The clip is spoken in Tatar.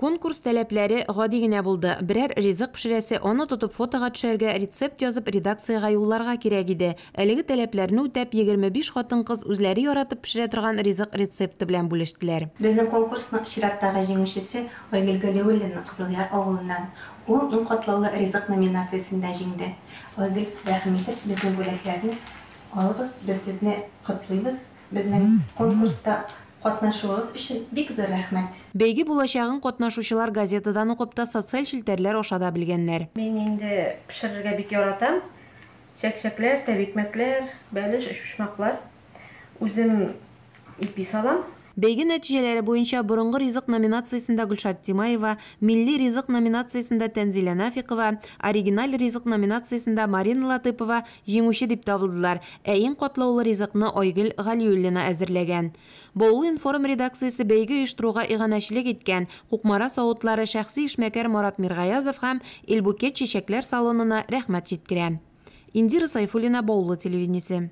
Конкурс таләпләре гади генә булды, берәр ризык пешерәсе, аны тотып фотога төшәргә, рецепт язып редакциягә юлларга кирәк иде. Әлеге таләпләрне үтәп, 25 хатын-кыз үзләре яратып пешерә торган ризык рецепты белән бүлештеләр. Безнең конкурсның чираттагы җиңүчесе Айгөл Галиуллина Кызылъяр авылыннан. Ул Иң катлаулы ризык номинациясендә җиңде. Айгөл, рәхим итеп, безнең бүләкләрне алыгыз, без сезне котлыйбыз. Безнең конкурста катнашуыгыз өчен бик зур рәхмәт! Бәйге булачагын катнашучылар газетадан укып та, социаль челтәрләр аша да белгәннәр. Мин инде пешерергә бик яратам. Чәкчәкләр, тәбикмәкләр, бәлеш, өчпочмаклар. Үзем ипи салам. Бәйге нәтиҗәләре буенча Борынгы ризык номинациясендә Гөлшат Тимаева, Милли ризык номинациясендә Тәнзилә Нафикова, Оригиналь ризык номинациясендә Марина Латыпова җиңүче дип табылдылар, ә иң катлаулы ризыкны Айгөл Галиуллина әзерләгән. Баулы-информ редакциясе бәйге оештыруга иганәчелек иткән Кукмара савытлары, шәхси эшмәкәр Марат Миргаязов һәм Эльбукет чәчәкләр салонына рәхмәт җиткерә. Индира Сайфуллина, Баулы телевидениесе.